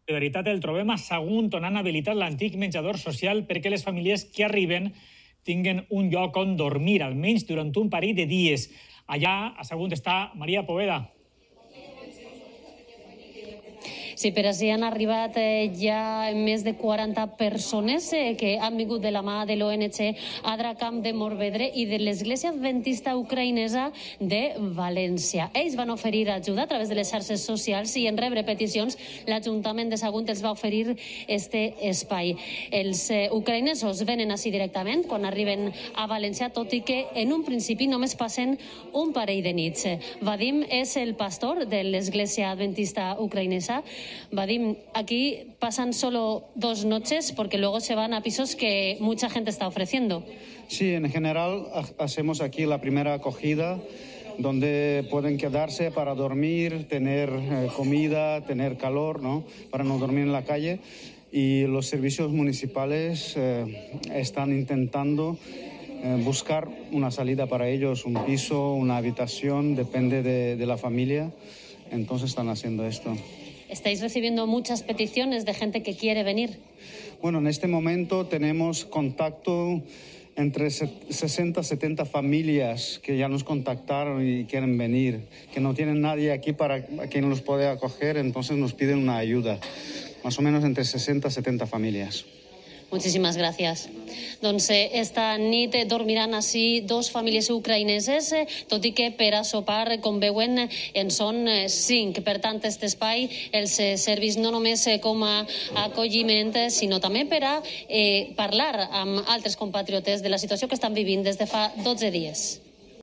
De veritat, el trobem a Sagunt, on han habilitat l'antic menjador social perquè les famílies que arriben tinguen un lloc on dormir, almenys durant un parell de dies. Allà, a Sagunt, està Maria Poveda. Sí, per així han arribat ja més de 40 persones que han vingut de la mà de l'ONG Adracamp de Morvedre i de l'Església Adventista Ucraïnesa de València. Ells van oferir ajuda a través de les xarxes socials i en rebre peticions l'Ajuntament de Sagunt els va oferir este espai. Els ucraïnesos venen així directament quan arriben a València, tot i que en un principi només passen un parell de nits. Vadim és el pastor de l'Església Adventista Ucraïnesa. Vadim, aquí pasan solo 2 noches porque luego se van a pisos que mucha gente está ofreciendo. Sí, en general hacemos aquí la primera acogida donde pueden quedarse para dormir, tener comida, tener calor, ¿no? Para no dormir en la calle. Y los servicios municipales están intentando buscar una salida para ellos, un piso, una habitación, depende de la familia. Entonces están haciendo esto. ¿Estáis recibiendo muchas peticiones de gente que quiere venir? Bueno, en este momento tenemos contacto entre 60 y 70 familias que ya nos contactaron y quieren venir, que no tienen nadie aquí para quien los pueda acoger, entonces nos piden una ayuda. Más o menos entre 60 y 70 familias. Muchísimas gràcies. Doncs esta nit dormiran així 2 famílies ucraïneses, tot i que per a sopar, com veuen, en són 5. Per tant, aquest espai els serveix no només com a acolliment, sinó també per a parlar amb altres compatriotes de la situació que estan vivint des de fa 12 dies.